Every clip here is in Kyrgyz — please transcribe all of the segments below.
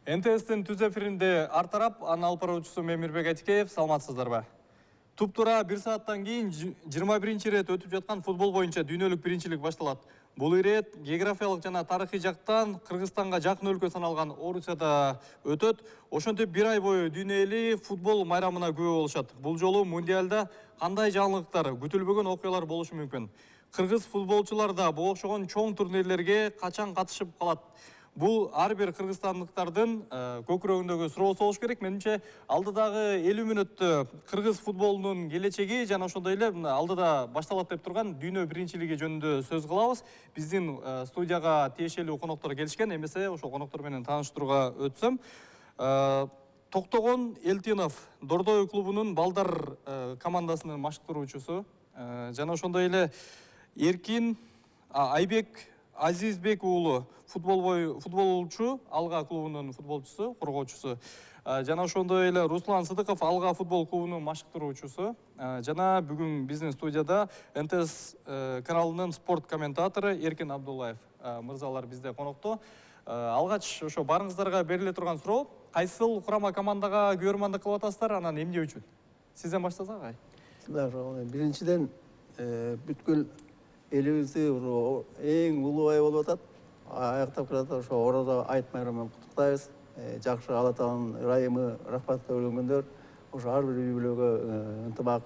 НТС'тин түз эфиринде ар тарап, анын алып баруучусу мен Мирбек Айтикеев, саламатсыздарбы? Туп-тура 1 сааттан кийин 21 рет өтүп жаткан футбол боюнча дүйнөлүк биринчилик башталат. Бул ирет географиялык жана тарыхый жактан Кыргызстанга жакын өлкө саналган Орусияда өтөт. Ошентип 1 ай бою дүйнө эли футбол майрамына күбө болушат. Бул жолу мундиалда кандай жаңылыктар, күтүлбөгөн окуялар болушу мүмкүн? Кыргыз футболчулар да бул окшогон чоң турнирлерге качан катышып калат? Бул ар бир кыргызстандыктардын көкүрөгүндөгү суроосу болуш керек. Менимче алдыдагы 50 мүнөттө кыргыз футболунун келечеги жана ошондой эле алдыда башталат деп турган дүйнө биринчилиги жөнүндө сөз кылабыз. Биздин студияга тиешелүү коноктор келишкен, эмесе ошол коноктор менен тааныштырууга өтсөм. Токтогон Элтинов Дордой клубунун балдар командасынын машыктыруучусу жана ошондой эле Эркин Айбек Азизбек уулу футболчу, Алга клубунун футболчусу, коргоочусу. Жана ошондой эле Руслан Сыдыков Алга футбол клубунун машыктыруучусу. Жана бүгүн биздин студияда НТС каналынын спорт комментатору Эркин Абдуллаев мырзалар бизде конокто. Алгач ошо барыңыздарга бериле турган суроо, кайсыл курама командага көрмандык кылып атасыздар, анан эмне үчүн? Сизден баштасак агай. Биринчиден бүткүл элибизди эң улуу ай болуп атат. Аяктап келатат, ошо Орозо айт майрамы менен куттуктайбыз. Жакшы Алла Тааланын ырайымы, рахматы бөлөнгөндөр ошо ар бир үй-бүлөгө ынтымак,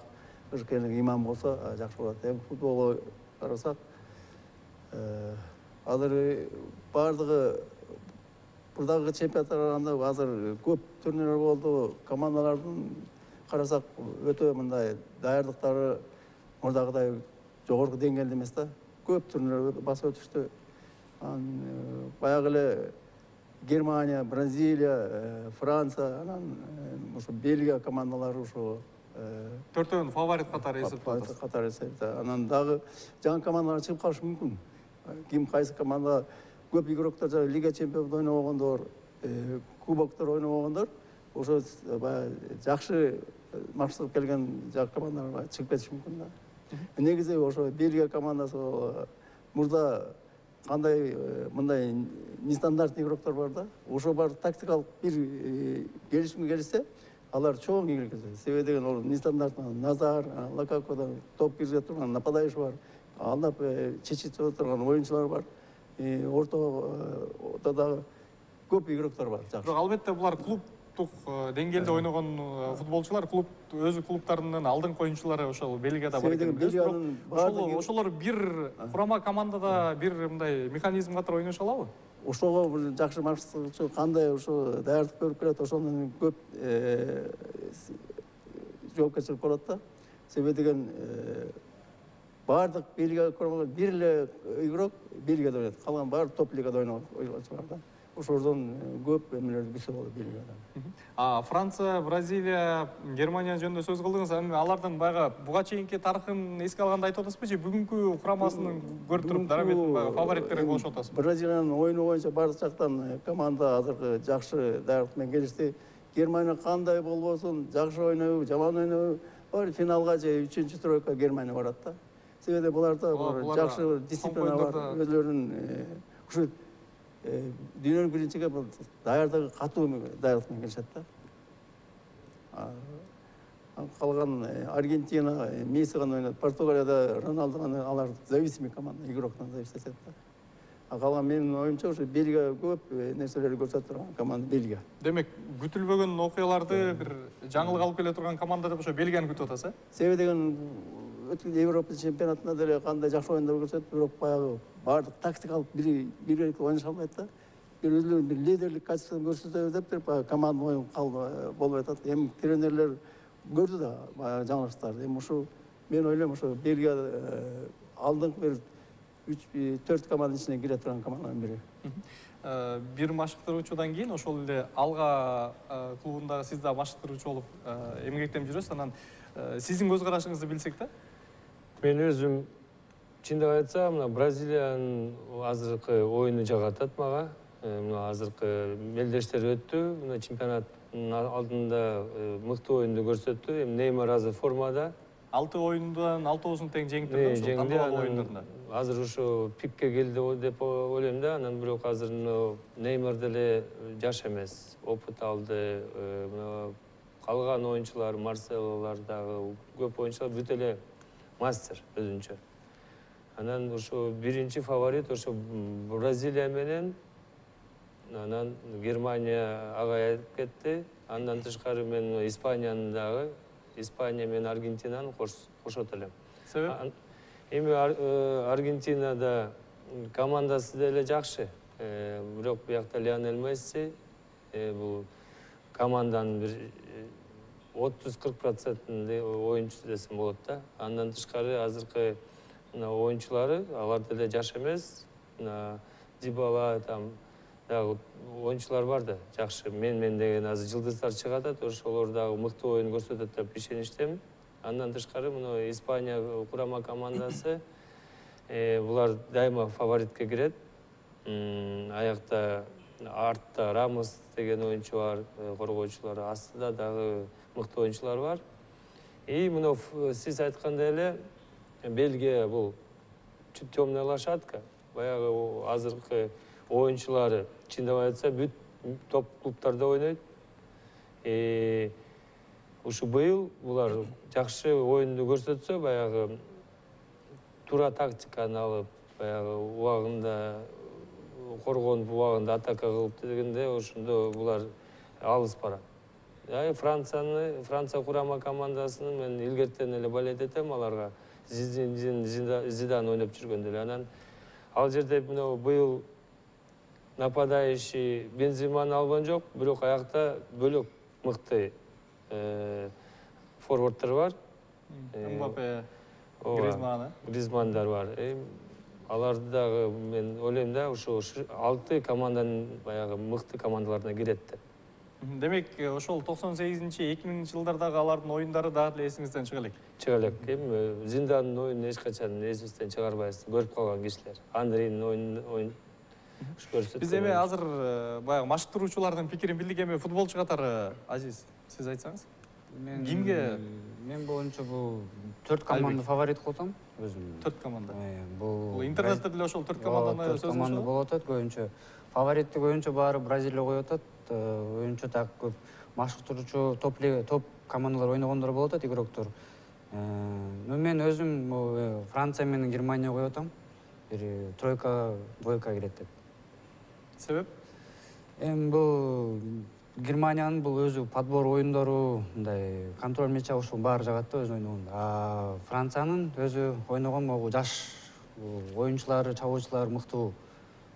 ыркерлик, иман болсо жакшы болот. Эми футболго карасак, азыр бардыгы бурдагы чемпионаттар караганда азыр көп турнирлер болду. Командалардын карасак өтө мындай даярдыктары мурдагыдай жогорку деңгээлде эмес да. Көп турнирлер басып өтүштү. Баягы эле Германия, Бразилия, Франция, анан ошо Бельгия командалары ошо төртөөнүн фаворит катары эсептелет. Анан дагы жаңы командалар чыгып калышы мүмкүн. Ким кайсы команда көп игроктор Лига чемпиондук ойногондор, кубоктор ойногондор, ошо баягы жакшы машыктап келген жаңы командалар чыгып кетиши мүмкүн да. Негизи ошо Бельгия командасы мурда кандай мындай нестандартный игроктор бар да. Ошо бар тактикалык бир келишимге келишсе, алар чоң ийгилик жасайт. Себеби деген ол нестандартный Назар, Лакакода топ киргизе турган нападающий бар. Алдап чечип турган оюнчулар бар. Ортодагы көп игроктор бар. Бирок албетте булар клубтук деңгээлде ойногон футболчулар, өзү клубтарынын алдыңкы оюнчулары ошол Бельгияда бар экен. Ошолор бир курама командада бир мындай механизм катары ойношу алабы? Ошого бир жакшы машыктыгычы кандай ошо даярдык көрүп келет, ошондон көп жоопкерчилик болот да. Себеби деген бардык Бельгия курамалар бир эле игрок Бельгияда ойнойт. Калган баары топ лигада ойногон ойунчулар да. Ошордон көп эмелерди билсе болот Бельгиядан. Франция, Бразилия, Германия жөнүндө сөз кылдыңыз. Алардын баягы буга чейинки тарыхын эске алганда айтып атасызбы же бүгүнкү курамасын көрүп туруп дараметтин баягы фавориттери болушуп атасызбы? Бразилиянын оюну боюнча бардык жактан команда азыркы жакшы даярдык менен келишти. Германия кандай болбосун, жакшы ойнойбу, жаман ойнойбу, баары финалга же 3-чү тройка Германия барат да. Себеби буларда жакшы дисциплина бар, өзлөрүнүн ушу дүйнөлүк биринчиге даярдыгы катуу даярдык менен келишет да. Калган Аргентина, Месси гана ойнойт. Португалияда Роналду гана, алар зависимый команда, игроктон зависит этет да. Калган менин оюмча ошо Бельгия көп нерселерди көрсөтүп турган команда Бельгия. Демек, күтүлбөгөн окуяларды бир жаңылык алып келе турган команда деп ошо Бельгияны күтүп атасыз, Себеби деген өткөн Европа чемпионатында деле кандай жакшы оюндар көрсөтүп, бирок баягы бардык тактикалык бир ойноша албайт да. Бир өзлөрүнүн бир лидерлик качествосун көрсөтөбүз деп баягы команда оюн болбой атат. Эми тренерлер көрдү да баягы жаңылыштарды. Эми ушул мен ойлойм ошо Бельгия алдыңкы бир 3-4 команданын ичине кире турган команданын бири. Бир машыктыруучудан кийин ошол эле Алга клубундагы сиз да машыктыруучу болуп эмгектенип жүрөсүз. Анан сиздин көз карашыңызды билсек да? Мен өзүм чындап айтсам, мына Бразилиянын азыркы оюну жагатат мага. Мына азыркы мелдештер өттү, мына чемпионаттын алдында мыкты оюнду көрсөттү. Эми Неймар азыр формада, 6 оюндан 6-оосун тең жеңиптир да, ошол тандоо оюндарында. Азыр ушу пикке келди деп ойлойм да. Анан бирок азыр Неймар деле жаш эмес, опыт алды. Калган оюнчулар, Марселолор дагы көп оюнчулар бүт эле мастер өзүнчө. Анан ушу биринчи фаворит ошо Бразилия менен анан Германия агайып кетти. Андан тышкары мен Испанияны дагы, Испания менен Аргентинаны кошот элем. Себеп? Эми Аргентинада командасы деле жакшы. Бирок биякта Лионель Месси бул команданын бир 30-40% оюнчусу десем болот да. Андан тышкары азыркы оюнчулары алар деле жаш эмес. Дибала там дагы оюнчулар бар да, жакшы. Мен деген азыр жылдыздар чыгат атат, ошолор дагы мыкты оюн көрсөтөт деп ишеничтемин. Андан тышкары мына Испания курама командасы булар дайыма фаворитке кирет. Аякта артта Рамос деген оюнчу бар, коргоочулар, астында дагы мыкты оюнчулар бар. Мына сиз айткандай эле Бельгия бул темная лошадка. Баягы азыркы оюнчулары чындап айтса бүт топ клубтарда ойнойт. Ушу быйыл булар жакшы оюнду көрсөтсө, баягы туура тактиканы алып, баягы убагында коргонуп, убагында атака кылып дегенде ошондо булар алыс барат. Франция курама командасынын мен илгертен эле болет этем аларга. Зидан ойноп жүргөндө эле. Анан ал жерде мына быйыл нападающий Бенземаны алган жок, бирок аякта бөлөк мыкты форварддар бар. Мбаппе, Гризмандар бар. Аларды дагы мен ойлойм да, ошо 6 команданын баягы мыкты командаларына кирет деп. Демек, ошол 98-2000 жылдардагы алардын оюндары дагы эле эсиңизден чыга элек. Чыга элек. Зиндандын оюнун эч качан эсибизден чыгарбайбыз. Көрүп калган кишилер. Андрейдин оюнун көрсөтүп. Биз эми азыр баягы машыктыруучулардын пикирин билдик. Эми футболчу катары Азиз, сиз айтсаңыз. Кимге? Мен боюнча бул 4 команда фаворит кылып атам өзүм. 4 команда. Бул интернетте деле ошол 4 команданы сөз команда болуп атат көбүнчө. Фавориттик оюнчу баары Бразилия коюп атат. Оюнчу так көп машыктыруучу топ командалар ойногондор болуп атат, игроктор. Мен өзүм Франция менен Германия коюп атам. Бир тройка, двойка кирет деп. Себеп? Бул Германиянын бул өзү подбор оюндору, мындай контроль мяча ошол баары жагат да өзү ойногондо. А Франциянын өзү ойногон могу жаш оюнчулары, чабуучулар мыктуу.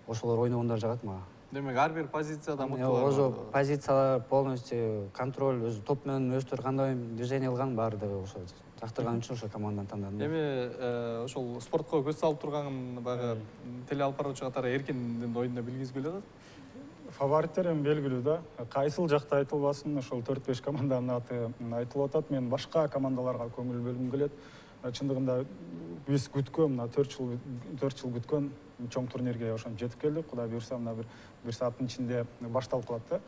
Ошолор ойногондор жагат мага. Демек, ар бир позицияда мыктылар. Ошо позициялар полностью контроль, өзү топ менен өздөрү кандай движение кылган баардыгы ошо жактырган үчүн ошо команданы тандадым. Эми ошол спортко көз салып турган баягы теле алып баруучу катары Эркиндин оюнуна билгизгүлө атат. Фавориттер эми белгилүү да. Кайсыл жакта айтылбасын, ошол 4-5 команданын аты айтылып атат. Мен башка командаларга көңүл бөлгүм келет. Чындыгында биз күткөн, мына 4 жыл күткөн чоң турнирге ошон жетип келдик. Кудай буйрса, мына бир сааттын ичинде башталып калат да.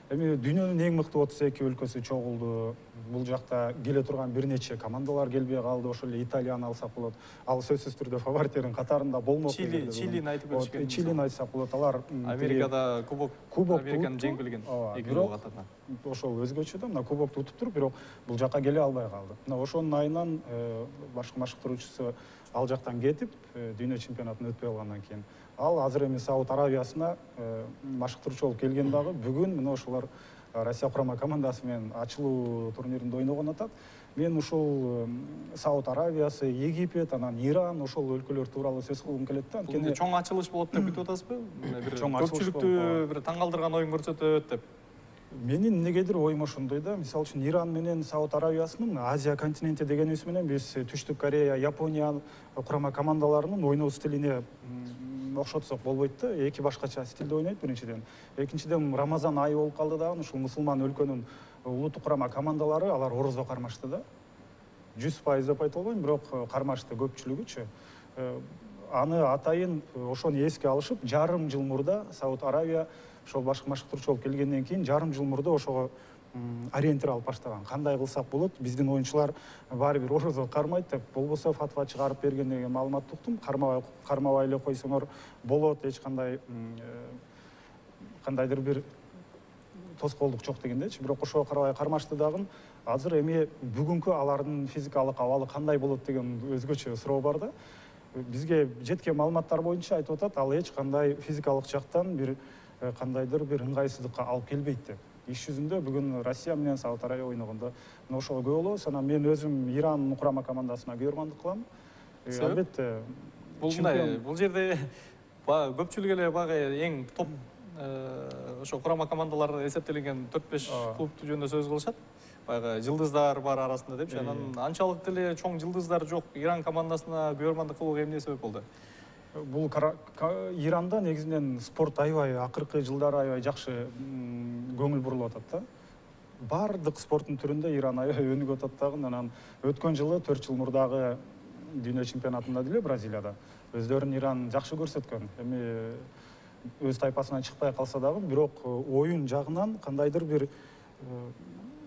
Эми дүйнөнүн эң мыкты 32 өлкөсү чогулду. Бул жакта келе турган бир нече командалар келбей калды. Ошол эле Италияны алсак болот. Ал сөзсүз түрдө фавориттердин катарында болмок. Чилини айтып өтүшкөн. Чилини айтсак болот. Алар Америкада кубок Американы жеңип келген. 2 жыл катарынан. Ошол өзгөчө да, мына кубокту утуп туруп, бирок бул жакка келе албай калды. Мына ошонун айынан башкы машыктыруучусу ал жактан кетип, дүйнө чемпионатын өтпөй калгандан кийин ал азыр эми Сауд Аравиясына машыктыруучу болуп келген дагы. Бүгүн мына ошолор Россия курама командасы менен ачылуу турниринде ойногон атат. Мен ушул Сауд Аравиясы, Египет, анан Иран ошол өлкөлөр тууралуу сөз кылгым келет да. Анткени чоң ачылыш болот деп күтүп атасызбы? Бир көпчүлүктү бир таң калтырган оюн көрсөтөт деп. Менин эмнегедир оюм ошондой да. Мисалы үчүн Иран менен Сауд Аравиясынын Азия континенти дегенибиз менен биз Түштүк Корея, Япония курама командаларынын ойноо стилине окшотсок болбойт да. Эки башкача стилде ойнойт биринчиден. Экинчиден Рамазан айы болуп калды да. Ушул мусулман өлкөнүн улуттук курама командалары алар орозо кармашты да. 100% деп айта албайм, бирок кармашты көпчүлүгүчү. Аны атайын ошону эске алышып, жарым жыл мурда Сауд Аравия ошол башкы машыктыруучу болуп келгенден кийин жарым жыл мурда ошого ориентир алып баштаган. Кандай кылсак болот, биздин оюнчулар баары бир орозо кармайт деп, болбосо фатва чыгарып берген деген маалымат уктум. Кармабай эле койсоңор болот, эч кандай кандайдыр бир тоскоолдук жок дегендечи. Бирок ошого карабай кармашты дагы. Азыр эми бүгүнкү алардын физикалык абалы кандай болот деген өзгөчө суроо бар да. Бизге жеткен маалыматтар боюнча айтып атат, ал эч кандай физикалык жактан бир кандайдыр бир ыңгайсыздыкка алып келбейт деп. Иш жүзүндө бүгүн Россия менен Сауд Арабия ойногондо ошого күбө болобуз. Анан мен өзүм Иран курама командасына күбөрмандык кылам. Албетте бул жерде көпчүлүк эле баягы эң топ ошо курама командалар эсептелинген 4-5 клубту жөнүндө сөз кылышат. Баягы жылдыздар бар арасында депчи. Анан анчалык деле чоң жылдыздар жок Иран командасына күбөрмандык кылууга эмне себеп болду? Бул Иранда негизинен спорт аябай акыркы жылдары аябай жакшы көңүл бурулуп атат да. Бардык спорттун түрүндө Иран аябай өнүгүп атат дагы. Анан өткөн жылы 4 жыл мурдагы дүйнө чемпионатында деле Бразилияда өздөрүн Иран жакшы көрсөткөн. Эми өз тайпасынан чыкпай калса дагы, бирок оюн жагынан кандайдыр бир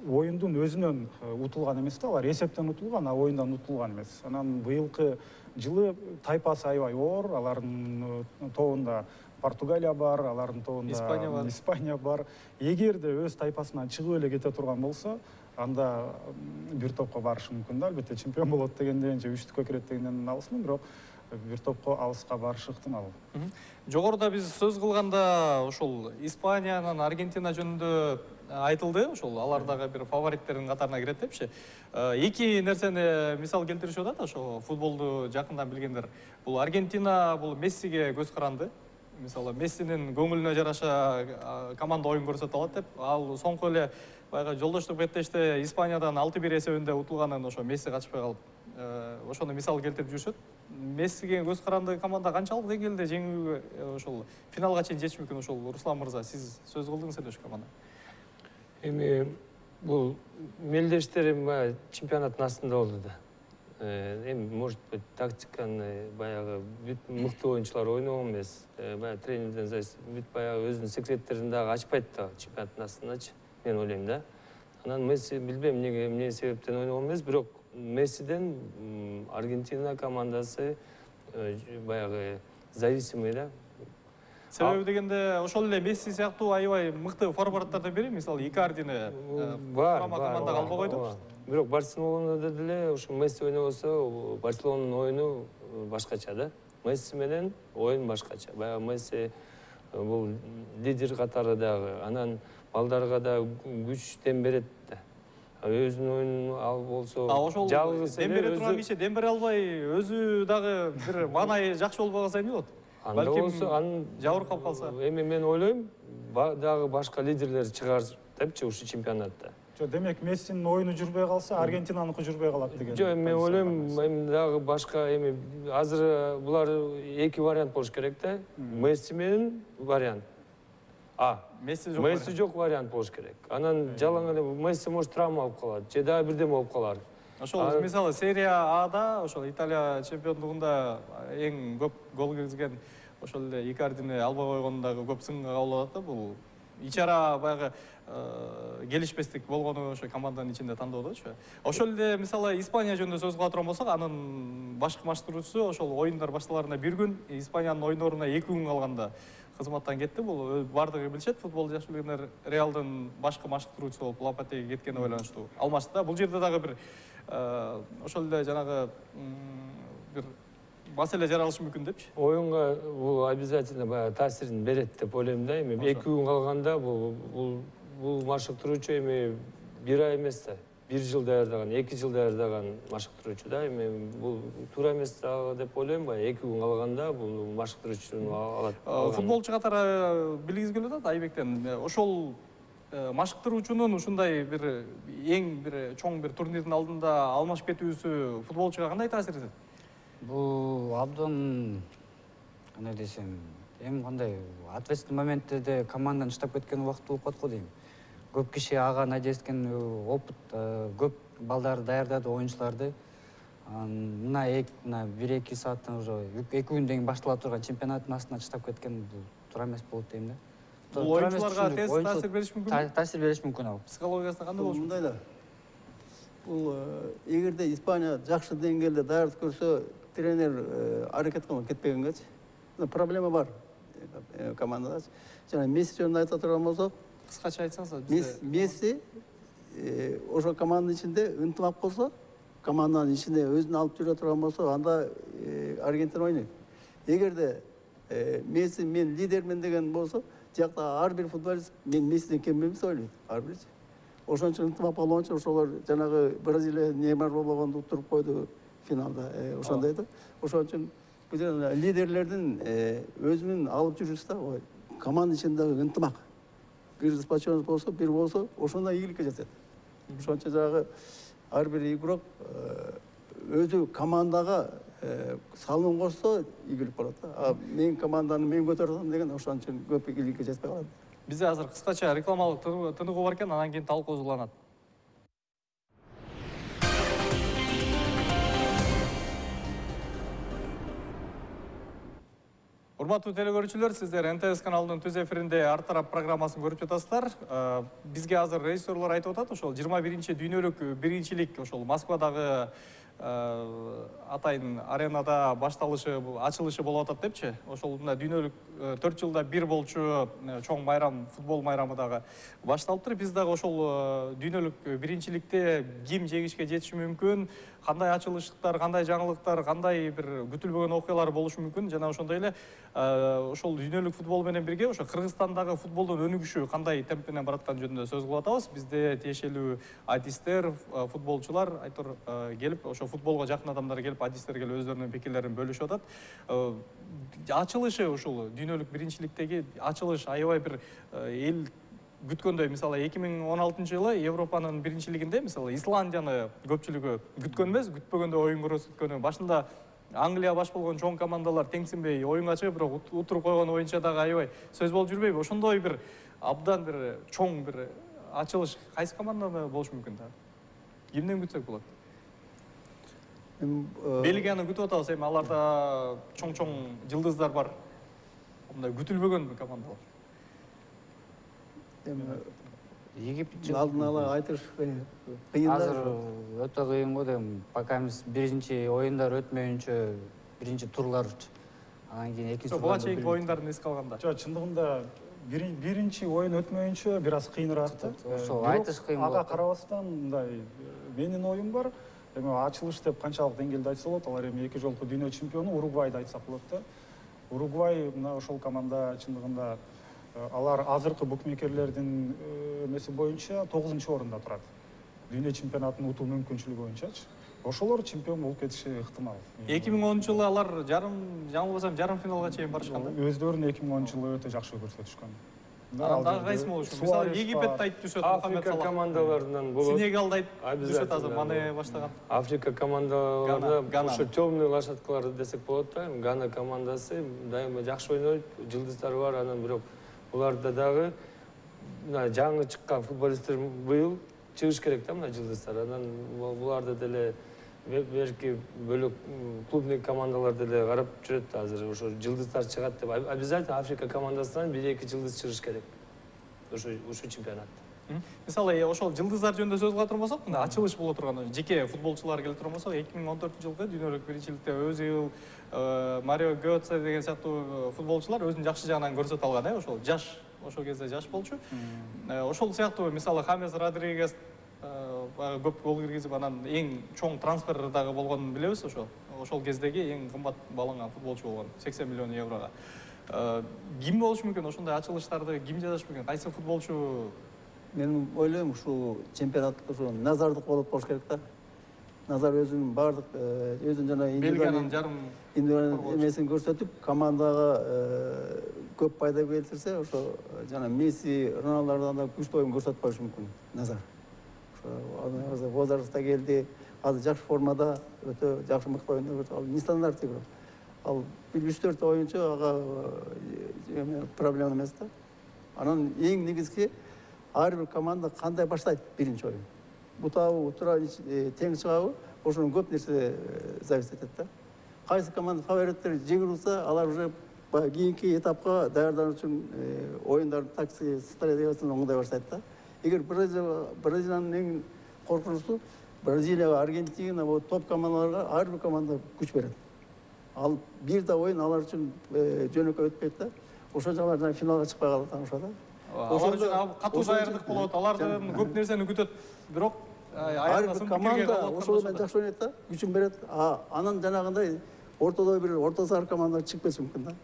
оюндун өзүнөн утулган эмес да, алар эсептен утулган, а оюндан утулган эмес. Анан быйылкы жылы тайпасы аябай оор, алардын тобунда Португалия бар, алардын тобунда Испания бар. Эгерде өз тайпасынан чыгып эле кете турган болсо, анда бир топко барышы мүмкүн да. Албетте чемпион болот дегенден же үчтүккө кирет дегенден алысмын, бирок бир топко алыска барышы ыктымал. Жогоруда биз сөз кылганда ошол Испаниянын, Аргентина жөнүндө айтылды, ошол алар дагы бир фавориттердин катарына кирет депчи. Эки нерсени мисал келтиришип атат, ошо футболду жакындан билгендер. Бул Аргентина бул Мессиге көз каранды. Мисалы Мессинин көңүлүнө жараша команда оюн көрсөтө алат деп, ал соңку эле баягы жолдоштук беттеште Испаниядан 6-1 эсебинде утулганын ошо Месси качпай калып, ошону мисал келтирип жүрүшөт. Мессиге көз каранды команда канчалык деңгээлде жеңүүгө ошол финалга чейин жетиш мүмкүн? Ошол Руслан мырза, сиз сөз кылдыңыз эле ошол команда. Эми бул мелдештерим чемпионаттын астында болду да. Эми может быть тактиканы баягы бүт мыкты оюнчулар ойногон эмес. Баягы тренерден зависит, бүт баягы өзүнүн секреттерин дагы ачпайт да чемпионаттын астындачы, мен ойлойм да. Анан Месси билбейм эмне себептен ойногон эмес, бирок Мессиден Аргентина командасы баягы зависимый да. Себеби дегенде ошол эле Месси сыяктуу аябай мыкты форварддардан бири, мисалы Икардини командага албай койду. Бирок Барселонада деле ошо Месси ойнобосо Барселонанын оюну башкача да. Месси менен оюн башкача. Баягы Месси бул лидер катары дагы, анан балдарга да күч дем берет да. Өзүнүн оюнун ал болсо жалгыз дем бере турган киши дем бере албай, өзү дагы бир маанайы жакшы болбой калса эмне болот? Балким анын жабырып калып калса. Эми мен ойлойм, дагы башка лидерлер чыгар депчи ушул чемпионатта. Демек Мессинин оюну жүрбөй калса, Аргентинаныкы жүрбөй калат деген. Жок, мен ойлойм, эми дагы башка эми азыр булар эки вариант болуш керек да. Месси менен вариант. Месси жок вариант болуш керек. Анан жалаң эле Месси может травма алып калат, же дагы бирдеме болуп калар. Ошол мисалы серия Ада, ошол Италия чемпиондугунда эң көп гол киргизген ошол эле Икардини албай койгондо дагы көп сынга кабыл алат да. Бул ичара баягы келишпестик болгону ошо команданын ичинде тандоодочу. Ошол эле мисалы Испания жөнүндө сөз кыла турган болсок, анын башкы маштыруучусу ошол оюндар башталарына 1 күн, Испаниянын ойноруна 2 күн калганда кызматтан кетти. Бул бардыгы билишет, футболду жакшы билгендер. Реалдын башкы маштыруучусу болуп Лопатеге кеткенине байланыштуу алмашты да. Бул жерде дагы бир ошол эле жанагы бир маселе жаралышы мүмкүн депчи. Оюнга бул обязательно баягы таасирин берет деп ойлойм да. Эми 2 күн калганда бул машыктыруучу эми 1 ай эмес да, 1 жыл даярдаган, 2 жыл даярдаган машыктыруучу да. Эми бул туура эмес деп ойлойм, баягы 2 күн калганда бул машыктыруучуну алат. Футболчу катары билгиз келип атат Айбектен. Ошол машыктыруучунун ушундай бир эң бир чоң бир турнирдин алдында алмашып кетүүсү футболчуга кандай таасир этет? Бул абдан кандай десем, эми кандай ответственный моменттерде командадан чыдап кеткен убакыт болуп калат го дейм. Көп киши ага надежда эткен, опыт көп балдарды даярдады, оюнчуларды. Мына 1-2 сааттан уже 2 күндөн кийин баштала турган чемпионаттын астына чыдап кеткен бул туура эмес болот дейм да. Бул оюнчуларга тез таасир бериши мүмкүн. Таасир бериши мүмкүн ал. Психологиясына кандай болуш мүмкүн? Мындай да. Бул эгерде Испания жакшы деңгээлде даярдык көрсө, тренер аракет кылып кетпегенгечи. Проблема бар командада. Жана Месси жөнүндө айта турган болсок, Кыскача айтсаңыз. Месси ошо команданын ичинде ынтымак болсо, команданын ичинде өзүн алып жүрө турган болсо, анда Аргентина ойнойт. Эгерде Месси мен лидермин деген болсо, тиякта ар бир футболист мен Мессиден кем эмес ойлойт, ар бирчи. Ошон үчүн ынтымак болгон үчүн ошолор жанагы Бразилия Неймар болгондо уттуруп койду финалда. Ошондой да. Ошон үчүн бул лидерлердин өзүнүн алып жүрүшү да, команда ичиндеги ынтымак. Бир сплоченность болсо, бир болсо, ошондо ийгиликке жетет. Ошон үчүн жанагы ар бир игрок өзү командага салым кошсо ийгилик болот да. Мен команданы мен көтөрөм деген ошон үчүн көп ийгиликке жетпей калат. Бизде азыр кыскача рекламалык тыныгуу бар экен, анан кийин талкуусуланат. Урматтуу телекөрүүчүлөр, сиздер НТС каналынын түз эфиринде Ар тарап программасын көрүп жатасыздар. Бизге азыр режиссерлор айтып атат, ошол 21 дүйнөлүк биринчилик ошол Москвадагы атайын аренада башталышы, ачылышы болуп атат депчи. Ошол мына дүйнөлүк 4 жылда бир болчу чоң майрам, футбол майрамы дагы башталыптыр. Биз дагы ошол дүйнөлүк биринчиликте ким жеңишке жетиши мүмкүн, кандай ачылыштар, кандай жаңылыктар, кандай бир күтүлбөгөн окуялар болушу мүмкүн. Жана ошондой эле ошол дүйнөлүк футбол менен бирге ошо Кыргызстандагы футболдун өнүгүшү кандай темп менен баратканы жөнүндө сөз кылып атабыз. Бизде тиешелүү адистер, футболчулар айтор келип, ошо футболго жакын адамдар келип, адистер келип өздөрүнүн пикирлерин бөлүшүп атат. Ачылышы ушул дүйнөлүк биринчиликтеги ачылыш аябай бир эл күткөндөй. Мисалы 2016-жылы Европанын биринчилигинде мисалы Исландияны көпчүлүгү күткөн эмес, күтпөгөндө оюн көрсөткөнү. Башында Англия баш болгон чоң командалар теңсинбей оюнга чыгып, бирок утуруп койгон оюнча дагы аябай сөз болуп жүрбөйбү? Ошондой бир абдан бир чоң бир ачылыш кайсы командада болуш мүмкүн да? Кимден күтсөк болот? Бельгияны күтүп атабыз, эми аларда чоң жылдыздар бар. Мындай күтүлбөгөн командалар. Египет Алдын ала айтыш кыйын. азыр өтө кыйын го дейм. Пока эмес биринчи оюндар өтмөйүнчө, биринчи турлар, анан кийин экинчи Буга чейинки оюндарын эске алганда. Жок, чындыгында биринчи оюн өтмөйүнчө бир аз кыйыныраак да. Ошол айтыш кыйын болот. Ага карабастан мындай менин оюм бар. Эми ачылыш деп канчалык деңгээлде айтса болот? Алар эми 2 жолку дүйнө чемпиону Уругвайды айтсак болот да. Уругвай мына ошол команда чындыгында алар азыркы букмекерлердин эмеси боюнча 9-орунда турат. Дүйнө чемпионатын утуу мүмкүнчүлүгү боюнчачы. Ошолор чемпион болуп кетиши ыктымал. 2010-жылы алар жаңылбасам жарым финалга чейин барышкан да. Өздөрүн 2010-жылы өтө жакшы көрсөтүшкөн. Анан дагы кайсы болушу? Мисалы Египет айтып düşөт, Африка командаларынан болот. Сенегал айтып düşөт азыр Мане баштаган. Африка командаларында ошо темный лошадкалар десек болот да. Гана командасы дайыма жакшы ойнойт, жылдыздары бар, анан бирок буларда дагы мына жаңы чыккан футболисттер быйыл чыгыш керек да, мына жылдыздар. Анан буларды деле берки бөлөк клубный командалар деле карап жүрөт азыр. Ошо жылдыздар чыгат деп обязательно Африка командасынан 1-2 жылдыз чыгыш керек. Ошо чемпионатта. Мисалы ошол жылдыздар жөнүндө сөз кыла турган болсок, мына ачылыш боло турган жеке футболчулар келип турган болсок, 2014-жылкы дүйнөлүк биринчиликте Өзил, Марио Götze деген сыяктуу футболчулар өзүнүн жакшы жагынан көрсөтө алган, ошол жаш, ошол кезде жаш болчу. Ошол сыяктуу мисалы Хамес Родригес көп гол киргизип, анан эң чоң трансфер дагы болгонун билебиз ошол кездеги эң кымбат бааланган футболчу болгон, 80 миллион еврого. Ким болушу мүмкүн ошондой ачылыштарды, ким жазыш мүмкүн? Кайсы футболчу? Мен ойлойм, ушул чемпионат ушу назардык болот болуш керек да. Назар өзүнүн бардык өзүнүн жана Бельгиянын жарым эмесин көрсөтүп, командага көп пайда келтирсе, ошо жана Месси, Роналдудан да күчтүү оюн көрсөтүп коюшу мүмкүн. Назар. Ошо возрастта келди, азыр жакшы формада, өтө жакшы мыкты оюндар көрсөтүп, ал нестандарт игрок. Ал 3-4 оюнчу ага проблема эмес да. Анан эң негизги ар бир команда кандай баштайт биринчи оюн. Бутабы, утура, тең чыгабы, ошонун көп нерсе зависит этет да. Кайсы команда фавориттер жеңип алса, алар уже баягы кийинки этапка даярдануу үчүн оюндардын тактика стратегиясын оңдой баштайт да. Эгер Бразилиянын эң коркунучтуу Бразилияга, Аргентина, топ командаларга ар бир команда күч берет. Ал бир да оюн алар үчүн жөнөкөй өтпөйт да. Ошол жагынан финалга чыкпай калат ошо да. Алар үчүн катуу даярдык болот, алардан көп нерсени күтөт. Бирок ар бир команда ошол менен жакшы ойнойт да, күчүн берет. Анан жанагындай ортодо бир орто сар команда чыгып кетиши мүмкүн да.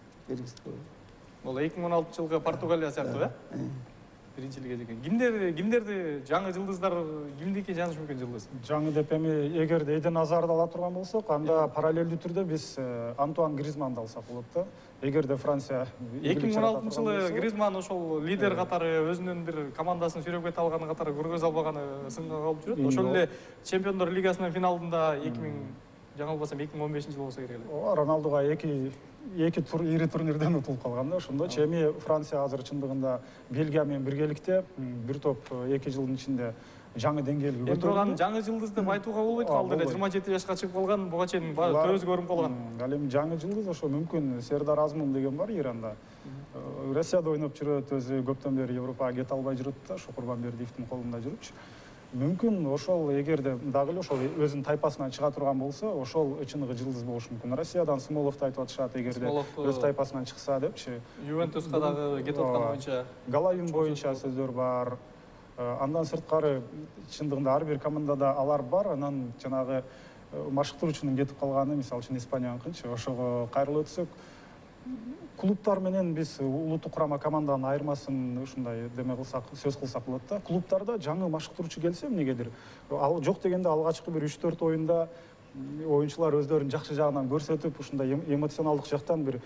Бул 2016-жылкы Португалия сыяктуу, биринчи лига деген. Кимдерди жаңы жылдыздар кимдики жанышы мүмкүн жылдыз? Жаңы деп эми эгерде Эден Азарды ала турган болсок, анда параллелдүү түрдө биз Антуан Гризманды алсак болот да. Эгерде Франция 2016-жылы Гризман ошол лидер катары өзүнүн бир командасын сүйрөп кете алганы катары көргөзө албаганы сынга калып жүрөт. Ошол эле Чемпиондор лигасынын финалында 2000 жаңылбасам 2015-жылы болсо керек эле. Ооба, Роналдуга эки ири турнирден утулуп калган да. Ошондочу эми Франция азыр чындыгында Бельгия менен биргеликте бир топ 2 жылдын ичинде жаңы деңгээлге көтөрүлдү. Бирок аны жаңы жылдыз деп айтууга болбойт, ал деле 27 жашка чыгып калган, буга чейин төбөсү көрүнүп калган. Ал эми жаңы жылдыз ошо мүмкүн Сердар Азмун деген бар Иранда. Россияда ойноп жүрөт, өзү көптөн бери Европага кете албай жүрөт да, ошо Курбанбердиевдин колунда жүрүпчү. Мүмкүн ошол эгерде дагы эле ошол өзүнүн тайпасынан чыга турган болсо, ошол чыныгы жылдыз болушу мүмкүн. Россиядан Смоловду айтып атышат, эгерде өз тайпасынан чыкса депчи. Ювентуска дагы кетип аткан боюнча. Галайын боюнча сөздөр бар. Андан сырткары чындыгында ар бир командада алар бар. Анан жанагы машыктыруучунун кетип калганы, мисалы үчүн Испанияныкынчы, ошого кайрылып өтсөк, клубтар менен биз улуттук курама команданын айырмасын ушундай деме кылсак, сөз кылсак болот да. Клубтарда жаңы машыктыруучу келсе эмнегедир, ал жок дегенде алгачкы бир 3-4 оюнда оюнчулар өздөрүн жакшы жагынан көрсөтүп, ушундай эмоционалдык жактан бир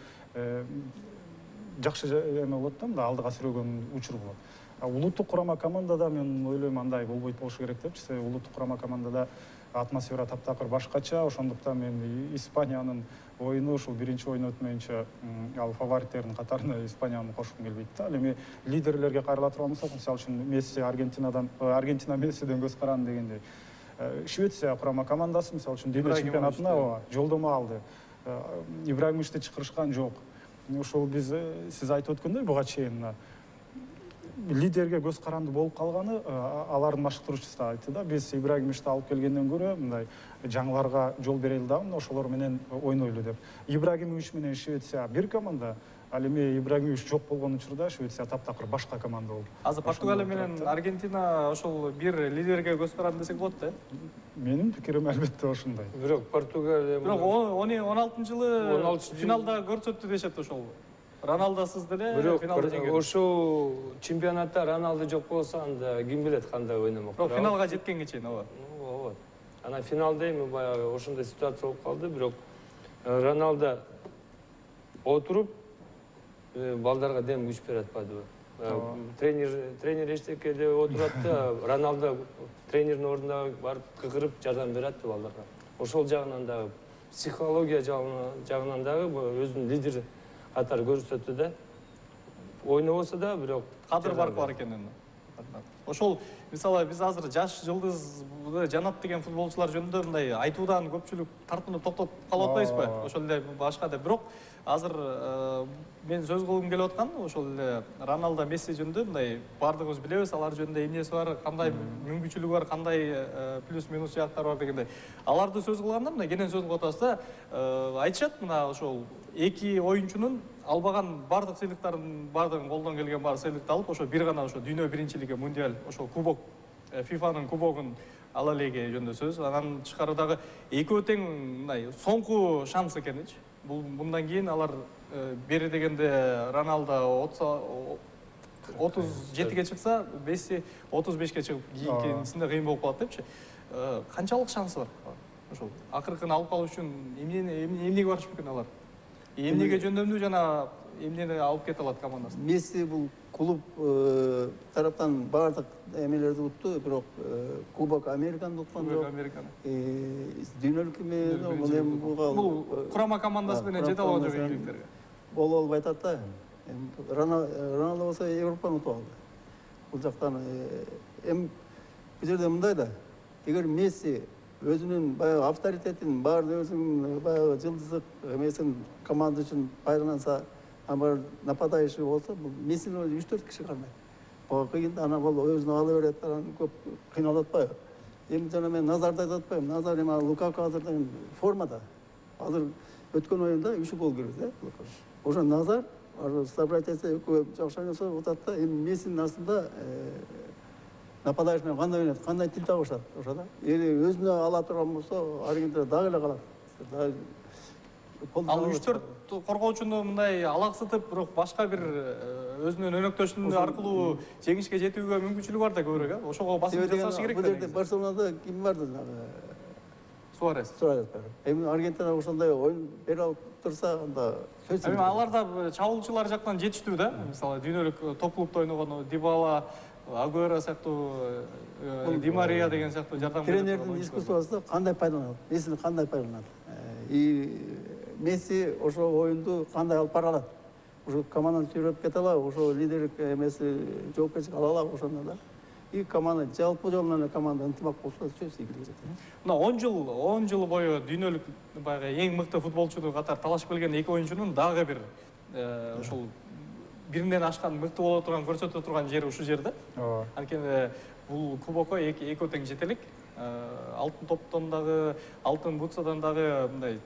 жакшы эме болот да, мында алдыга сүрөгөн учур болот. Улуттук курама командада мен ойлойм андай болбойт болушу керек депчи. Улуттук курама командада атмосфера таптакыр башкача, ошондуктан мен Испаниянын оюну ушул биринчи оюн өтмөйүнчө ал фавориттердин катарына Испанияны кошкум келбейт да. Ал эми лидерлерге кайрыла турган болсок, мисалы үчүн Месси Аргентина Мессиден көз каранды дегендей. Швеция курама командасы мисалы үчүн дүйнө чемпионатына жолдомо алды. Ибрагимовичти чакырышкан жок. Ошол биз сиз айтып өткөндөй буга чейин лидерге көз каранды болуп калганы алардын машыктыруучусу да айтты да. Биз Ибрагимовичти алып келгенден көрө мындай жаңыларга жол берели дагы, ошолор менен ойнойлу деп. Ибрагимович менен Швеция бир команда, ал эми Ибрагимович жок болгон учурда Швеция таптакыр башка команда болду. Азыр Португалия менен Аргентина ошол бир лидерге көз каранды десек болот да. Менин пикирим албетте ошондой. Бирок Португалия Бирок 16-жылы финалда көрсөттү дешет ошол. Роналдосуз деле финалда жеңген. Ошол чемпионатта Роналду жок болсо анда ким билет кандай ойномок. Бирок финалга жеткенге чейин ооба. Ооба. Анан финалда эми баягы ошондой ситуация болуп калды, бирок Роналду отуруп балдарга дем күч берип атпадыбы? Тренер эчтекеде отурат да, Роналду тренердин ордуна барып кыгырып жардам берет балдарга. Ошол жагынан дагы психология жагынан дагы өзүнүн лидер катары көрсөттү да. Ойнобосо да, бирок кадыр бар экенин. Ошол мисалы биз азыр жаш жылдызды жанат деген футболчулар жөнүндө мындай айтуудан көпчүлүк тартынып токтоп калып атпайбызбы? Ошол эле башка да. Бирок азыр мен сөз кылгым келип аткан ошол эле Роналдо, Месси жөнүндө мындай баардыгыбыз билебиз, алар жөнүндө эмнеси бар, кандай мүмкүнчүлүгү бар, кандай плюс минус жактары бар дегендей. Аларды сөз кылганда мына кенен сөз кылып атабыз да, айтышат мына ошол эки оюнчунун албаган баардык сыйлыктардын баардыгын колдон келген баары сыйлыкты алып, ошо бир гана ошо дүйнө биринчилиги, мундиаль, ошол кубок, ФИФАнын кубогун ала элеги жөнүндө сөз. Анан тышкары дагы экөө тең мындай соңку шанс экеничи. Мындан кийин алар бери дегенде Роналдо 37-ге чыкса, Месси 35-ке чыгып, кийинкисинде кыйын болуп калат депчи. Канчалык шансы бар? Ошол акыркын алып калуу үчүн эмнеге барыш мүмкүн алар? Эмнеге жөндөмдүү жана эмнени алып кете алат командасы? Месси бул клуб тараптан баардык эмелерди утту, бирок Кубок Американы уткан жок. Дүйнөлүк эме бул курама командасы менен жете алган жок ийгиликтерге. Боло албай атат да. Роналдо болсо Европаны утуп алды. Бул жактан бул жерде мындай да. Эгер Месси өзүнүн баягы авторитетин, баары өзүнүн баягы жылдыздык эмесин команда үчүн пайдаланса, Ama нападающий болса, Мессини 3-4 киши кармайт. Кыйын ана бол өзүнө ала берет, анан көп кыйналып атпайбы? Эми жана мен Назарды айтып атпайбы? Назар эми Лукаку азыр формада. Азыр өткөн оюнда 3 гол кирди, Лукаку. Ошо Назар собрать этсе экөө жакшы ойносо отат да, эми Мессинин астында нападающий менен кандай ойнойт, кандай тил табышат ошода. Эли өзүнө ала турган болсо, Аргентина дагы эле калат. Ал 3-4 коргоочуну мындай алаксытып, бирок башка бир өзүнүн өнөктөшүнүн аркылуу жеңишке жетүүгө мүмкүнчүлүгү бар да көбүрөөк, э? Ошого басым жасашы керек да. Бул жерде Барселонада ким бар жанагы? Суарес. Суарес бар. Эми Аргентина ошондой оюн бере алып турса, анда сөз. Эми алар да чабуулчулар жактан жетиштүү да. Мисалы дүйнөлүк топ клубда ойногон Дибала, Агуэро сыяктуу, Ди Мария деген сыяктуу жардам берет. Тренердин искусствосу кандай пайдаланат? Мессини кандай пайдаланат? И Месси ошо оюнду кандай алып бара алат? Ошо команданы сүйрөп кете алабы? Ошо лидерлик эмеси жоопкерчилик ала алабы ошондо да? И команда жалпы жолунан эле команда ынтымак болсо сөз ийгилиги жетет. Мына 10 жыл бою дүйнөлүк баягы эң мыкты футболчу катары талашып келген эки оюнчунун дагы бир ошол биринен ашкан мыкты боло турган көрсөтө турган жери ушул жерде. ооба. Анткени бул кубокко экөө тең жетелик. Алтын топтон дагы, алтын бутсадан дагы мындай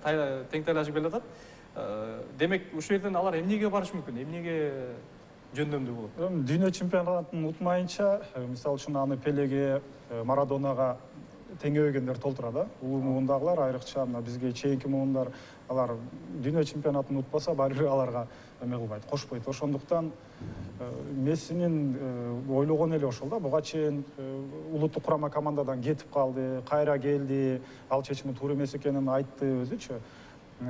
тең тайлашып келатат. Демек ушул жерден алар эмнеге барышы мүмкүн? Эмнеге жөндөмдүү болот? Эми дүйнө чемпионатын утмайынча, мисалы үчүн аны Пелеге, Марадонага теңебегендер толтура да. Улуу муундагылар айрыкча мына бизге чейинки муундар алар дүйнө чемпионатын утпаса, баары бир аларга эме кылбайт, кошпойт. Ошондуктан Мессинин ойлогон эле ошол да. Буга чейин улуттук курама командадан кетип калды, кайра келди, ал чечими туура эмес экенин айтты өзүчү.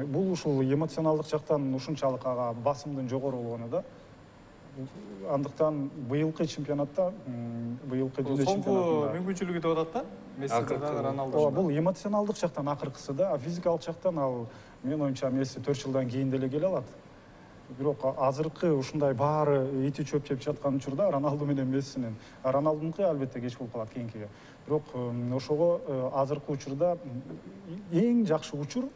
Бул ушул эмоционалдык жактан ушунчалык ага басымдын жогору болгону да. Андыктан быйылкы чемпионатта, быйылкы дүйнө чемпионатында соңку мүмкүнчүлүгү деп атат да. Месси дагы Роналду. Ооба, бул эмоционалдык жактан акыркысы да, а физикалык жактан ал менин оюмча Месси 4 жылдан кийин деле келе алат. Бирок азыркы ушундай баары ити чөп жеп жаткан учурда Роналду менен Мессинин, Роналдунуку албетте кеч болуп калат кийинкиге. Бирок ошого азыркы учурда эң жакшы учур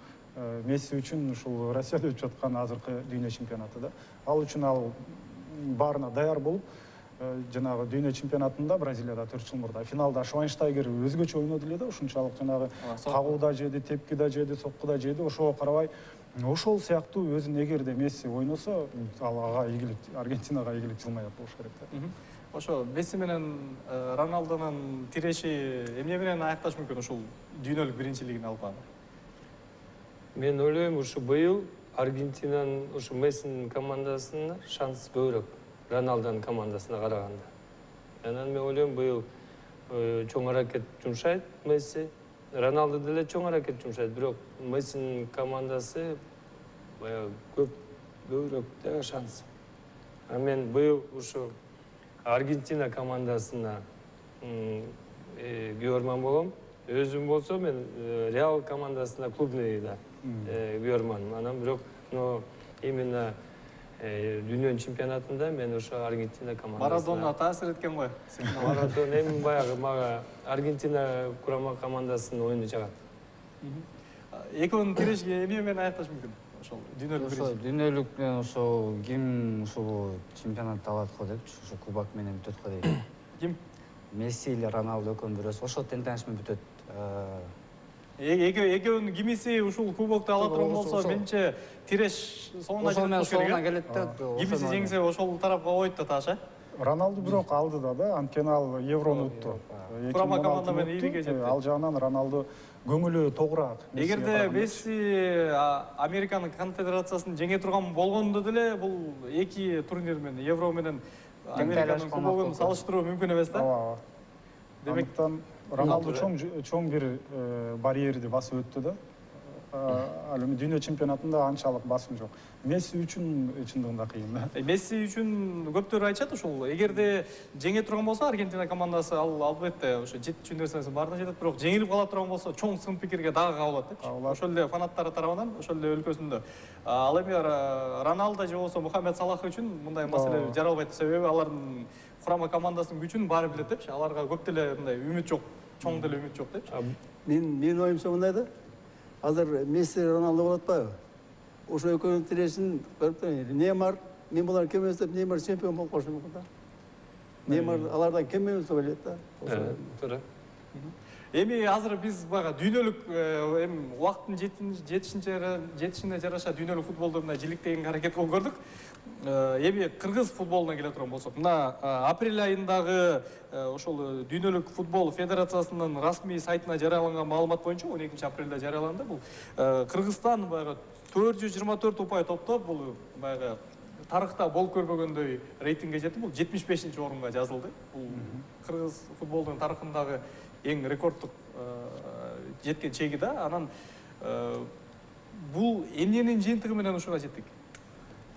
Месси үчүн ушул Россияда өтүп жаткан азыркы дүйнө чемпионаты да. Ал үчүн ал баарына даяр болуп, жанагы дүйнө чемпионатында Бразилияда 4 жыл мурда финалда Швайнштайгер өзгөчө ойноду эле да, ушунчалык жанагы кагуу да жеди, тепки да жеди, сокку да жеди. Ошого карабай, ошол сыяктуу өзүн эгерде Месси ойносо, ал ага ийгилик, Аргентинага ийгилик жылмай болуш керек да. Ошо Месси менен Роналдунун тиреши эмне менен аякташ мүмкүн ушул дүйнөлүк биринчилигин алганы? Мен ойлойм, ушу быйыл Аргентинанын ушу Мессинин командасына шанс көбүрөөк Роналдунун командасына караганда. Анан мен ойлойм, быйыл чоң аракет жумшайт Месси. Роналду деле чоң аракет жумшайт, бирок Мессинин командасы баягы көбүрөөк да шанс. А мен быйыл ушу Аргентина командасына күйөрман болом. Өзүм болсо мен Реал командасына клубныйда күйөрманмын. Анан бирок именно дүйнөнүн чемпионатында мен ошо Аргентина командасына. Марадона таасир эткен го. Марадона эми баягы мага Аргентина курама командасынын оюну жагат. Экөөнүн тиреши эмне менен аякташ мүмкүн? Ошол дүйнөлүк Ошо дүйнөлүк менен ошо ким ушул чемпионатты алат го депчи, ошо кубок менен бүтөт го дейт. Ким? Месси или Роналду экөөнүн бирөөсү ошол тең таныш менен бүтөт. Экөөнүн кимиси ушул кубокду ала турган болсо, менимче тиреш соңуна жетет соңуна келет да. Кимиси жеңсе ошол тарапка койот да тааш, э? Роналду бирок алдыда да, анткени ал Еврону утту. Курама команда менен ийгиге жетти. Ал жагынан Роналду көңүлү тогураак. Эгерде Месси Американын конфедерациясын жеңе турган болгондо деле бул эки турнир менен Евро менен Американын кубогун салыштыруу мүмкүн эмес да. Ооба. Демектен Роналду чоң бир барьерди басып өттү да. Ал эми дүйнө чемпионатында анчалык басым жок. Месси үчүн чындыгында кыйын да. Месси үчүн көптөр айтышат ушул. Эгерде жеңе турган болсо Аргентина командасы ал албетте ошо жетчү нерсесин баарына жетет, бирок жеңилип кала турган болсо чоң сын пикирге дагы кабылат депчи. Ошол эле фанаттары тарабынан, ошол эле өлкөсүндө. Ал эми Роналдо же болбосо Мухаммед Салах үчүн мындай маселе жаралбайт, себеби алардын курама командасынын күчүн баары билет депчи. Аларга көп деле мындай үмүт жок, чоң деле үмүт жок депчи. Менин оюмча мындай да. Азыр Месси Роналду болуп атпайбы? ошо экөөнүн тирешин көрүп туруп Неймар, мен булар кем эмес деп Неймар чемпион болуп калышы мүмкүн да. Неймар алардан кем эмес деп ойлойт да. Туура. Эми азыр биз баягы дүйнөлүк эми убакыттын жетишине жараша дүйнөлүк футболду мына жиликтегенге аракет кылып көрдүк. Эми кыргыз футболуна келе турган болсок, мына апрель айындагы ошол дүйнөлүк футбол федерациясынын расмий сайтына жарыяланган маалымат боюнча 12 апрелде жарыяланды. Бул Кыргызстан баягы 424 упай топтоп, бул баягы тарыхта болуп көрбөгөндөй рейтингге жетип, бул 75-чи орунга жазылды. Бул кыргыз футболдун тарыхындагы эң рекорддук жеткен чеги да. Анан бул эмненин жыйынтыгы менен ушуга жеттик?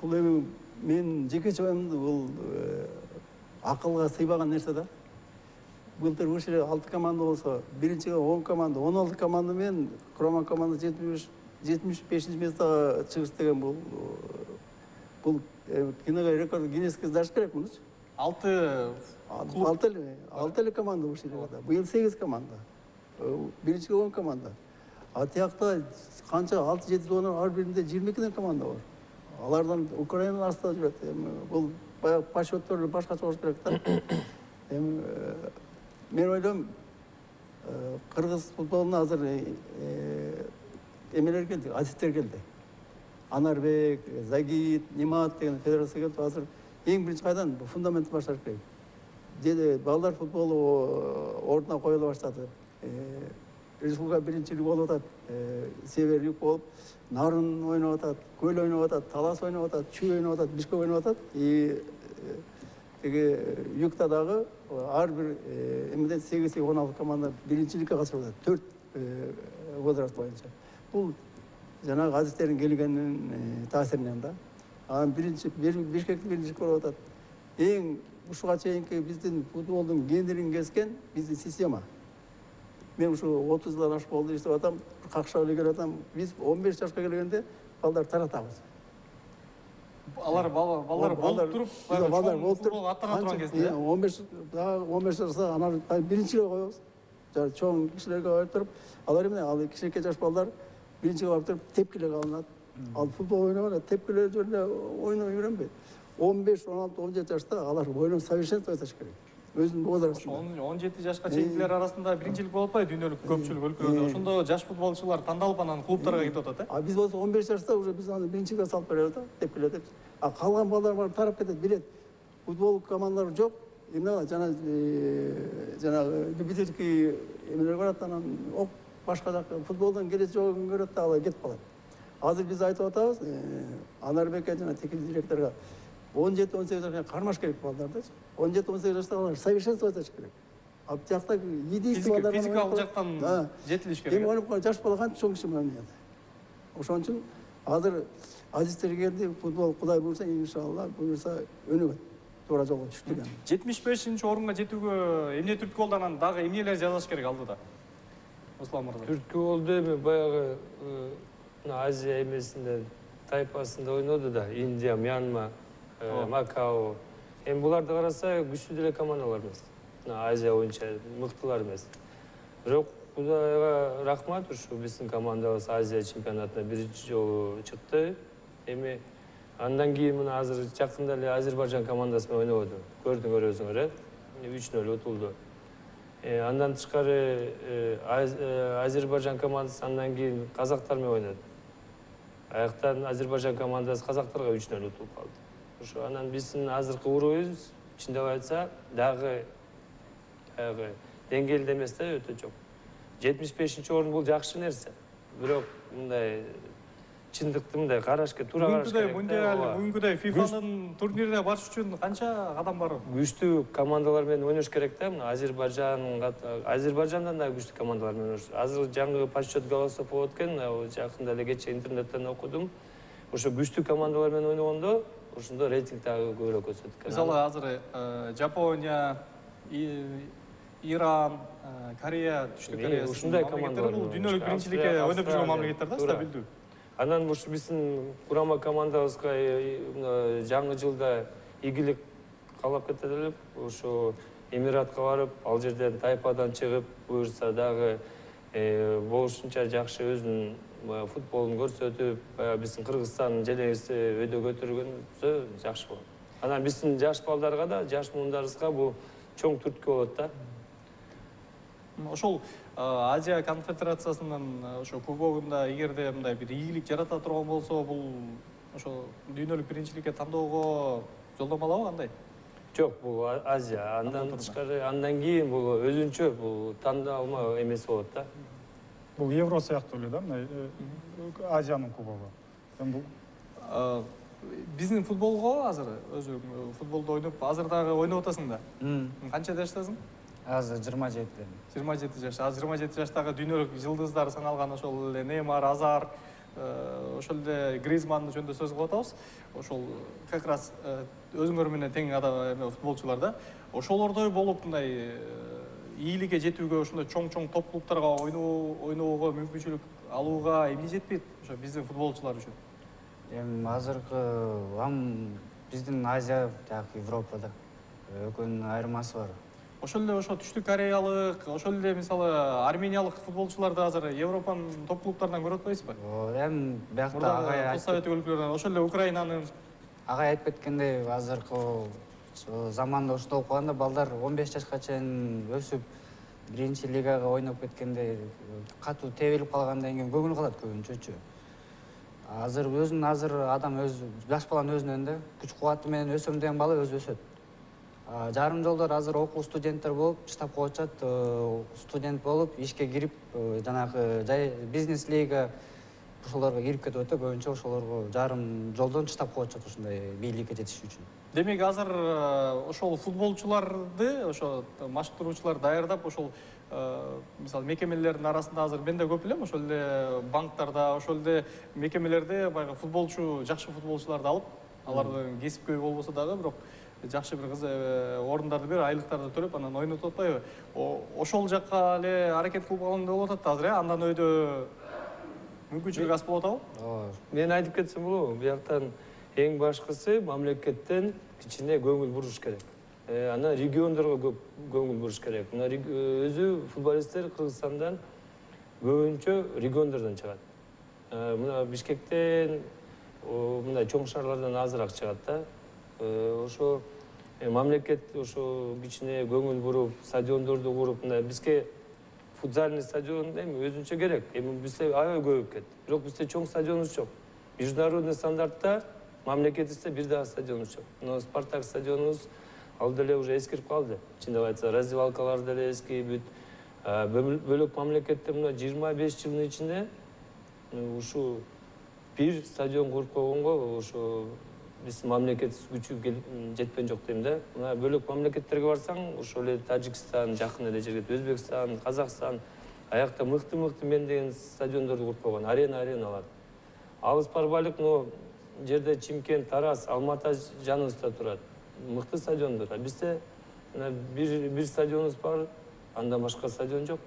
Бул эми мен жекече оюмду бул акылга сыйбаган нерсе да. Былтыр ушул 6 команда болсо, биринчиге 10 команда, 16 команда менен курама команда 75-чи местага чыгыш деген бул кинога рекорд Гиннеске сдаш керек мунучу. 6 эле команда ушул жерде. Быйыл 8 команда. Биринчиге 10 команда. А тиякта канча 6-7 донор ар биринде 22 команда бар. Алардан Украинанын астында жүрөт. Эми бул баягы подсчёттор башкача болуш керек да. Эми мен ойлойм, кыргыз футболуна азыр эмелер келди, азиттер келди. Анарбек, Загит, Нимат деген федерация келип, азыр эң биринчи кайдан фундамент башташ керек. Деди балдар футболу ордуна коюла баштады. Республика биринчилиги болуп атат, север юг болуп, Нарын ойноп атат, Көл ойноп атат, Талас ойноп атат, Чүй ойноп атат, Бишкек ойноп атат. Теги югта дагы ар бир эмеден 8-16 команда биринчиликке катышып атат. 4 возраст боюнча. Бул жанагы азистердин келгенинин таасиринен да. Анан Бишкекти биринчи болуп атат. Эң ушуга чейинки биздин футболдун гендерин кескен биздин система. Мен ушу 30 жылдан ашык болду иштеп атам, какшап эле келип атам. Биз 15 жашка келгенде балдар таратабыз. Балдар болуп туруп, балдар болуп туруп, аттана турган кезде. 15 жашта анан биринчиге коебуз. Чоң кишилерге коюп туруп, алар эмне, ал кичинекей жаш балдар биринчиге барып туруп тепкилек алынат. Ал футбол ойногондо тепкилер жөнүндө ойноп үйрөнбөйт. 15, 16, 17 жашта алар ойноо совершенство этиш керек. Өзүнүн возрастында. 17 жашка чейинкилер арасында биринчилик болуп атпайбы дүйнөлүк көпчүлүк өлкөлөрдө? Ошондо жаш футболчулар тандалып анан клубтарга кетип атат, А биз болсо 15 жашта уже биз аны биринчиге салып беребиз да, тепкилеп деп. А калган балдар барып тарап кетет, билет. Футбол командалары жок. Эмне жанагы любительский эмелер барат, анан башка жака футболдон келечеги жогун көрөт да, алар кетип калат. Азыр биз айтып атабыз, Анарбекке жана техник директорго 17-18 жашка кармаш керек балдарды. 17-18 жашта алар совершенство этиш керек. А тиякта единство балдар физикалык жактан жетилиш керек. Эми ойноп калган жаш бала канча чоң киши менен ойнойт. Ошон үчүн азыр азиздер келди, футбол Кудай буйрса, иншалла буйрса өнүгөт. Туура жолго түштүк. 75-чи орунга жетүүгө эмне түрткү болду, анан дагы эмнелер жазыш керек алдыда? Руслан мырза. Түрткү болду эми баягы Азия эмесинде тайпасында ойноду да, Индия, Мьянма, Макао. Эми буларды караса күчтүү деле командалар эмес. Азия боюнча мыктылар эмес. Бирок Кудайга рахмат, ушу биздин командабыз Азия чемпионатына биринчи жолу чыкты. Эми андан кийин мына азыр жакында эле Азербайжан командасы менен ойнободу. Көрдүңөр өзүңөр, 3-0 утулду. Андан тышкары Азербайжан командасы андан кийин казактар менен ойноду. Аяктан Азербайжан командасы казактарга 3-0 утулуп калды. Ошо анан биздин азыркы урубубуз ичинде айтса дагы деңгээлде эмес да, өтө жок. 75-чи орун бул жакшы нерсе. Бирок мындай чындыкты мындай карашка туура караш керек. Бүгүнкүдөй ФИФАнын турнирине барыш үчүн канча кадам бар? Күчтүү командалар менен ойнош керек да. Мына Азербайжандан да күчтүү командалар менен ойнош. Азыр жаңы подсчет голосов болуп өткөн, жакында эле кечээ интернеттен окудум. Ошо күчтүү командалар менен ойногондо ошондо рейтинг дагы көбүрөөк өсөт экен. Мисалы азыр Жапония, Иран, Корея, Түштүк Корея ушундай командалар бул дүйнөлүк биринчиликке ойноп жүргөн мамлекеттер да, стабилдүү. Анан ушу биздин курама командабызга жаңы жылда ийгилик каалап кетет элек. Ошо Эмиратка барып, ал жерден тайпадан чыгып, буюрса дагы болушунча жакшы өзүнүн футболун көрсөтүп, биздин Кыргызстандын желегибизди өйдө көтөргөнсө жакшы болот. Анан биздин жаш балдарга да, жаш муундарыбызга бул чоң түрткү болот да. Ошол Азия конфедерациясынын ошо кубогунда эгерде мындай бир ийгилик жарата турган болсо, бул ошо дүйнөлүк биринчиликке тандоого жолдомалабы кандай? Жок, бул Азия. Андан тышкары, андан кийин бул өзүнчө бул тандалма эмес болот да. Бул Евро сыяктуу эле да, мына Азиянын кубогу. Бул Биздин футболго азыр өзү футболду ойноп, азыр дагы ойноп атасың да. Канча жаштасың? азыр 27. 27 жаш. Азыр 27 жаштагы дүйнөлүк жылдыздар саналган ошол эле Неймар, Азар, ошол эле Гризманды жөнүндө сөз кылып атабыз. Ошол как раз өзүңөр менен тең футболчулар да. Ошолордой болуп мындай ийгиликке жетүүгө, ошондой чоң топ клубтарга ойноого мүмкүнчүлүк алууга эмне жетпейт ошо биздин футболчулар үчүн? Эми азыркы биздин Азия жаак Европада экөөнүн айырмасы бар. Ошол эле ошо түштүк кореялык, ошол эле мисалы армениялык футболчуларды азыр Европанын топ клубтарынан көрүп атпайсызбы? Эми биякта Советтик өлкөлөрдөн, ошол эле Украинанын агай айтып кеткендей, азыркы заманда ушундай болуп калганда балдар 15 жашка чейин өсүп, биринчи лигага ойноп кеткенде катуу тебилип калгандан кийин көңүл калат көбүнчөчү. Азыр адам жаш баланын өзүнөн да күч кубаты менен өсөм деген бала өзү өсөт. Жарым жолдор азыр окуу студенттер болуп, штабка очат, студент болуп, ишке кирип, жанагы жай бизнес лига ошолорго кирип кетип атат, көбүнчө ошолорго жарым жолдон штабка очот ушундай бийликке жетиш үчүн. Демек азыр ошол футболчуларды, ошо машыктыруучулар даярдап, ошол мисалы мекемелердин арасында азыр мен да көп билем, ошол эле банктарда, ошол эле мекемелерде баягы жакшы футболчуларды алып, алардын кесипкөй болбосо дагы, бирок жакшы бир орундарды берип, айлыктарды төлөп, анан ойнотуп атпайбы? Ошол жакка эле аракет кылып алган болуп атат азыр, андан өйдө мүмкүнчүлүк аз болуп атабы? Мен айтып кетсем болобу, бияктан эң башкысы мамлекеттен кичине көңүл буруш керек. Анан региондорго көп көңүл буруш керек. Мына өзү футболисттер Кыргызстандан көбүнчө региондордон чыгат. Мына Бишкектен, мындай чоң шаарлардан азыраак чыгат да. Ошо мамлекет ошо кичине көңүл буруп, стадиондорду куруп, мына бизге футзальный стадион эми өзүнчө керек. Эми бизде аябай көбөйүп кетти. Бирок бизде чоң стадионубуз жок. Международный стандартта мамлекетибизде бир дагы стадионубуз жок. Но Спартак стадионубуз ал деле уже эскирип калды. Чындап айтса, раздевалкалар деле эски, бүт. Бөлөк мамлекетте мына 25 жылдын ичинде ушу бир стадион куруп койгонго ошо биздин мамлекет күчү жетпеген жок дейм да. Мына бөлөк мамлекеттерге барсаң, ошол эле Тажикстан, жакын эле жерге, Өзбекстан, Казакстан, аякта мыкты мен деген стадиондорду куруп койгон, ареналар. Алыс барбайлык, но жерде Чимкент, Тарас, Алматы жаныбызда турат. Мыкты стадиондор. Бизде бир стадионубуз бар, андан башка стадион жок.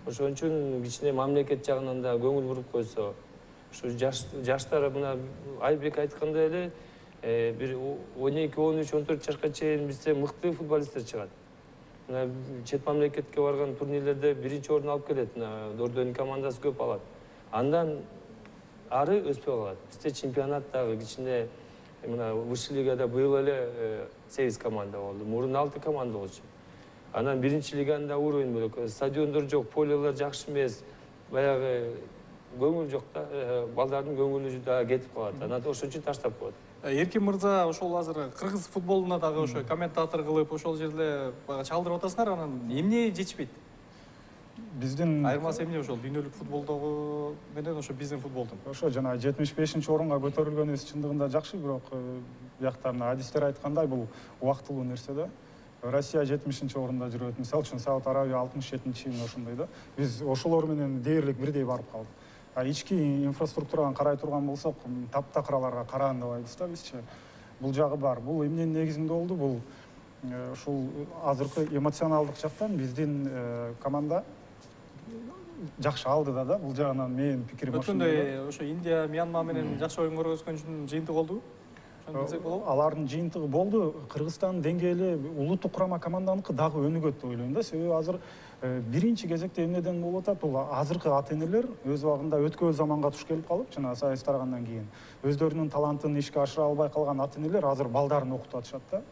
Ошон үчүн кичине мамлекет жагынан да көңүл буруп койсо, ушу жаштар мына Айбек айткандай эле бир 12, 13, 14 жашка чейин бизде мыкты футболисттер чыгат. Мына чет мамлекетке барган турнирлерде биринчи орун алып келет, мына Дордонун командасы көп алат. Андан ары өспөй калат. Бизде чемпионаттагы кичине мына высший лигада быйыл эле 8 команда болду. Мурун 6 команда болчу. Анан биринчи лиганын да уровень бөлөк. Стадиондор жок, полелер жакшы эмес. Баягы көңүл жок да, балдардын көңүлү да кетип калат. Анан ошон үчүн таштап коет. Эркин мырза ошол азыр кыргыз футболуна дагы ошо комментатор кылып, ошол жерде чалдырып атасыңар, анан эмне жетишпейт? Биздин айырмасы эмне ошол дүйнөлүк футболдогу менен ошо биздин футболдун? Ошо жана 75-орунга көтөрүлгөнүбүз чындыгында жакшы, бирок биякта адистер айткандай бул убактылуу нерсе да. Россия 70-орунда жүрөт, мисалы үчүн Сауд Арабия 67-ошондой да. Биз ошолор менен дээрлик бирдей барып калдык. Ички инфраструктураны карай турган болсок, таптакыраларга караандабайбыз да бизчи. Бул жагы бар. Бул эмненин негизинде болду? Бул ушул азыркы эмоционалдык жактан биздин команда жакшы алды да. Бул жагынан менин пикирим ошондой. Өткөндө ошо Индия, Мьянма менен жакшы оюн көргөзгөн үчүн жыйынтык болдубу? ошону билсек болобу? Алардын жыйынтыгы болду. Кыргызстандын деңгээли улуттук курама команданыкы дагы өнүгөт деп ойлойм да. Себеби азыр биринчи кезекте эмнеден болуп атат? Бул азыркы ата энелер өз убагында өткөн заманга туш келип калып, жана саясат тарагандан кийин өздөрүнүн талантын ишке ашыра албай калган ата энелер азыр балдарын окутуп атышат да.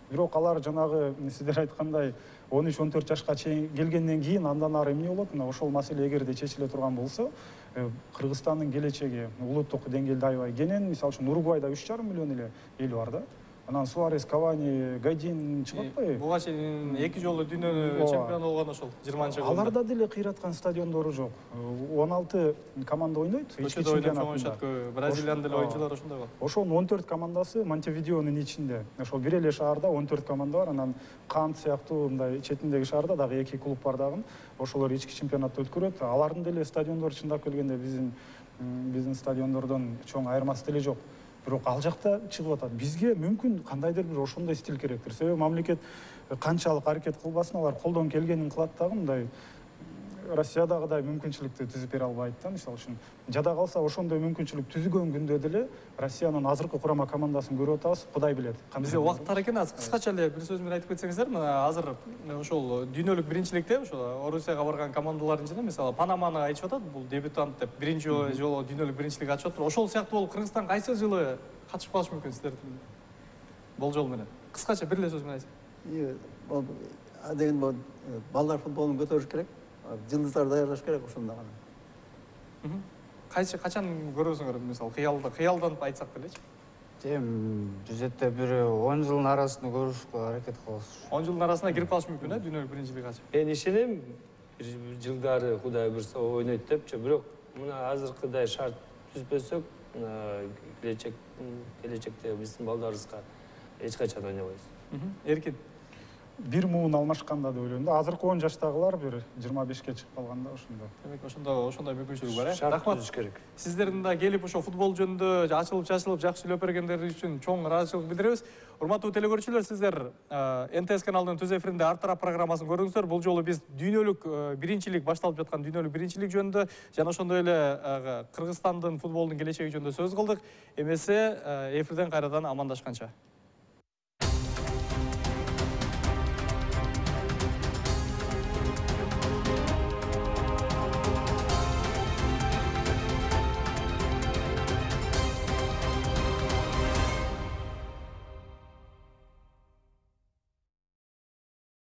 Бирок алар жанагы сиздер айткандай 13-14 жашка чейин келгенден кийин андан ары эмне болот? Мына ошол маселе эгерде чечиле турган болсо, Кыргызстандын келечеги улуттук деңгээлде аябай кенен. Мисалы үчүн Уругвайда 3,5 миллион эле эл бар да. Анан Суарес, Кавани, Гайдин чыгып атпайбы? Буга чейин 2 жолу дүйнө чемпиону болгон ошол 20-жылда. Аларда деле кыйраткан стадиондору жок. 16 команда ойнойт. Көчөдө ойноп чоңоюшат. Бразилиянын деле оюнчулары ошондой бар. Ошонун 14 командасы Монтевидеонун ичинде. Ошол бир эле шаарда 14 команда бар. Анан Кант сыяктуу мындай четиндеги шаарда дагы 2 клуб бар дагы. Ошолор ички чемпионатты өткөрөт. Алардын деле стадиондору чындап келгенде биздин стадиондордон чоң айырмасы деле жок. Бирок ал жакта чыгып атат. Бизге мүмкүн кандайдыр бир ошондой стиль керектир. Себеби мамлекет канчалык аракет кылбасын, алар колдон келгенин кылат дагы, мындай Россиядагыдай мүмкүнчүлүктү түзүп бере албайт да. Мисалы үчүн жада калса ошондой мүмкүнчүлүк түзүлгөн күндө деле Россиянын азыркы курама командасын көрүп атабыз. Кудай билет. Бизде убакыт тар экен, азыр кыскача эле бир сөз менен айтып кетсеңиздер, мына азыр ошол дүйнөлүк биринчиликте ошол Орусияга барган командалардын ичинде мисалы Панаманы айтып атат, бул дебютант деп биринчи жолу дүйнөлүк биринчилик ачып атат. Ошол сыяктуу болуп Кыргызстан кайсы жылы катышып калышы мүмкүн сиздердин болжол менен? Кыскача бир эле сөз менен айтсак. Деген балдар футболун көтөрүш керек. Жылдыздар даярдаш керек ошондо гана. Качан көрөсүңөр мисалы кыялданып айтсак делечи? Бюджетте бир 10 жылдын арасында көрүшкө аракет кылабыз. 10 жылдын арасына кирип калыш мүмкүн, дүйнөлүк биринчилик ачып. Мен ишенем, бир жылдары Кудай буйрса ойнойт депчи, бирок мына азыркыдай шарт түзбөсөк, келечекте биздин балдарыбызга эч качан ойнобойбуз. Эркин. Бир муун алмашканда деп ойлойм да. Азыркы 10 жаштагылар бир 25ке чыгып калганда ошондо. Демек ошондой мүмкүнчүлүк бар, Шарт түзүш керек. Сиздердин да келип ошо футбол жөнүндө ачылып чачылып жакшы сүйлөп бергендери үчүн чоң ыраазычылык билдиребиз. Урматтуу телекөрүүчүлөр, сиздер НТС каналынын түз эфиринде Ар тарап программасын көрдүңүздөр. Бул жолу биз дүйнөлүк биринчилик, башталып жаткан дүйнөлүк биринчилик жөнүндө жана ошондой эле Кыргызстандын футболдун келечеги жөнүндө сөз кылдык. Эмесе эфирден кайрадан амандашканча.